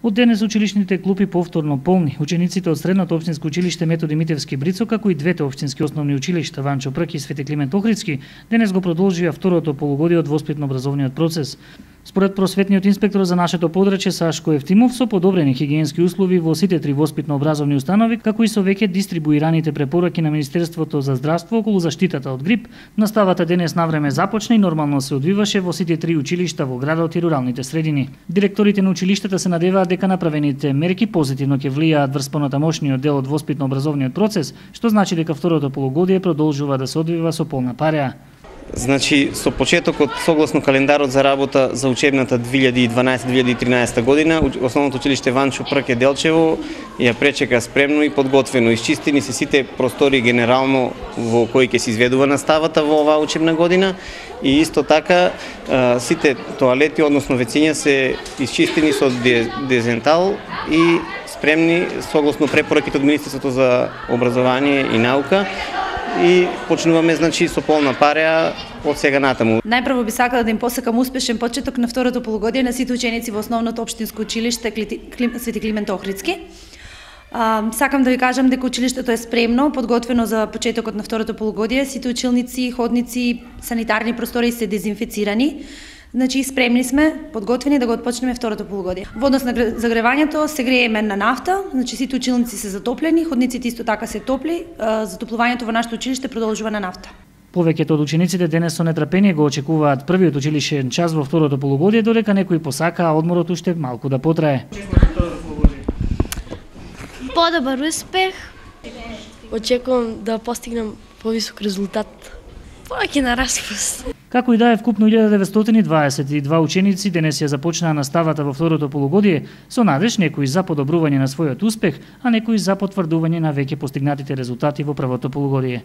Од денес училишните клупи повторно полни. Учениците од Средното општинско училиште Методи Митевски Брицо, како и двете општински основни училишта Ванчо Прк и Свети Климент Охридски, денес го продолжија второто полугодие од воспитно-образовниот процес. Според просветниот инспектор за нашето подрачје Сашко Евтимов, со подобрени хигиенски услови во сите три воспитно-образовни установи, како и со веќе дистрибуираните препораки на Министерството за здравство околу заштитата од грип, наставата денес навреме започна и нормално се одвиваше во сите три училишта во градот и руралните средини. Директорите на училиштата се надеваат дека направените мерки позитивно ќе влијаат врз понатамошниот дел од воспитно-образовниот процес, што значи дека второто полугодие продолжува да се одвива со полна пареа. Значи, со почетокот согласно календарот за работа за учебната 2012-2013 година, основното училиште Ванчо Прк Делчево ја пречека спремно и подготвено. Исчистени се сите простори генерално во кои ќе се изведува наставата во оваа учебна година и исто така сите тоалети, односно вециња се исчистени со дезентал и спремни согласно препораките од Министерството за образование и наука. И почнуваме значи со полна пареа од сега натаму. Најпрво би сакала да им посакам успешен почеток на второто полугодие на сите ученици во основното општинско училиште Свети Климент Охридски. Сакам да ви кажам дека училиштето е спремно, подготвено за почетокот на второто полугодие. Сите училници, ходници, санитарни простори се дезинфицирани. Значи, спремни сме, подготвени да го отпочнеме второто полугодие. Во однос на загревањето се грееме на нафта, значи сите училници се затоплени, ходниците исто така се топли, затоплувањето во нашето училиште продолжува на нафта. Повеќето од учениците денес со нетрпение го очекуваат првиот училишен час во второто полугодие, додека некои посакаа одморот уште малку да потрае. Подобар успех. Очекувам да постигнем повисок резултат. Повеќе на распуст. Како и да е, вкупно 1922 ученици денес ја започнаа наставата во второто полугодие со надеж некои за подобрување на својот успех, а некои за потврдување на веќе постигнатите резултати во првото полугодие.